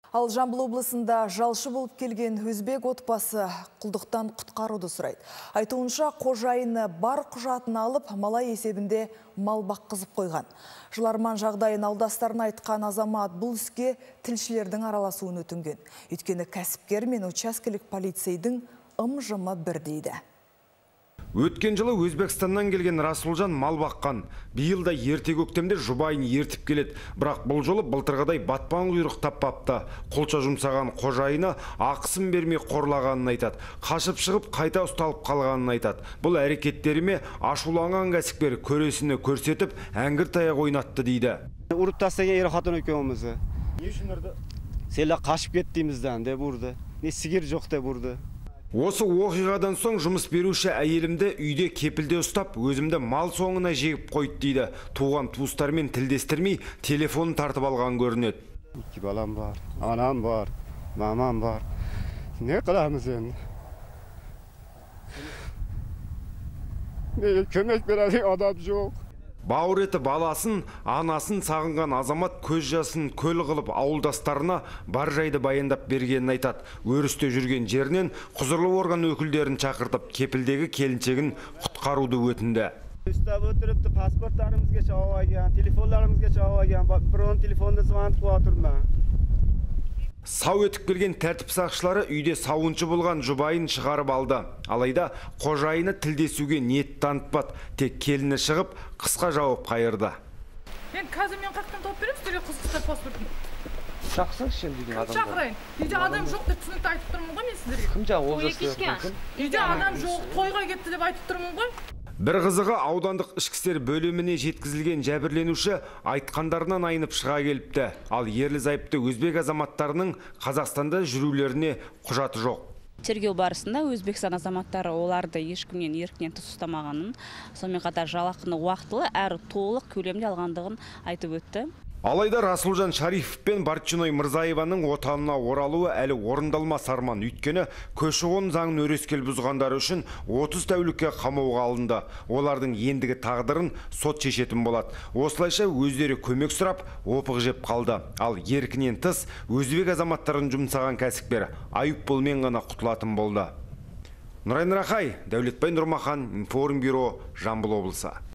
Ал Жамбыл облысында жалшы болып келген өзбек отбасы құлдықтан құтқаруды сұрайды. Айтуынша қожайыны бар құжатын алып, малай есебінде мал баққызып қойған. Жыларман жағдайын алдастарына айтқан азамат бұл іске тілшілердің араласуын өтінген. Өйткені кәсіпкер мен учаскелік полицейдің ым-жымы бір дейді. Өткен жылы Өзбекстаннан келген Расулжан мал баққан. Биыл да ерте көктемде жұбайын ертіп келеді. Бірақ бұл жолы былтырғыдай батпан құйрық таппапты. Қолша жұмсаған қожайыны ақысын бермей қорлағанын айтады. Қашып шығып қайта ұсталып қалғанын айтады. Бұл әрекеттеріме ашуланған кәсіпкер көресіні көрсетіп, әңгір таяқ ойнатты дейді. Ұрып тастаған ер қатын екеумізді. Не үшін ұрды? Селі қашып кеттімізден деп ұрды. Не сигер жоқ деп ұрды. Осы оқиғадан соң жұмыс беруші әйелімді үйде кепілде ұстап, өзімді мал соңына жегіп қойды дейді. Туған туыстармен тілдестірмей, телефонын тартып алған көрінеді. 2 балам бар, анам бар, мамам бар. Не қыламыз енді? Көмек берер адам жоқ. Бауыр еті баласын, анасын сағынған азамат көз жасын көл қылып ауылдастарына бар жайды баяндап бергенін айтады. Өрісте жүрген жерінен құзырлы орган өкілдерін шақыртып, кепілдегі келіншегін құтқаруды өтінді. Üstəb ötürübdü, pasportlarımız çağıb algan, telefonlarımız çağıb algan, biron telefonda звонып отырмын. Сау өтіп келген тәртіп сақшылары үйде сауыншы болған жұбайын шығарып алды. Алайда қожайыны тілдесуге ниет танытпады. Тек келіні шығып, қысқа жауап қайырды. Мен қазір қақтан тауып беремін, сіздерге қызықтар паспортын. Шақсаңшы деген адамдар. Шақырайын. Үйде адам жоқ деп түсінікті айтып тұрмын ғой мен сіздерге. Кім жаңа олжас? Үйде адам жоқ, тойға кетті деп айтып тұрмын ғой. Бір қызығы аудандық ішкі істер бөліміне жеткізілген жәбірленуші айтқандарынан айнып шыға келіпті. Ал ерлі зайыпты өзбек азаматтарының Қазақстанда жүрулеріне құжаты жоқ. Тергеу барысында Өзбекстан азаматтары оларды ешкімнен еркінен тыс ұстамағанын, сонымен қатар жалақыны уақытылы әрі толық көлемде алғандығын айтып өтті. Алайда Расулжан Шарифов пен Барчиной Мырзаеваның отанына оралуы әлі орындалмас арман. Өйткені көші-қон заңын өрескел бұзғандар үшін 30 тәулікке қамауға алынды. Олардың ендігі тағдырын сот шешетін болады. Осылайша өздері көмек сұрап, опық жеп қалды. Ал еркінен тыс өзбек азаматтарын жұмсаған кәсіпкер айыппұлмен ғана құтылатын болды. Нұрайын Рахай, Дәулетбай Нұрмахан, Информбюро, Жамбыл облысы.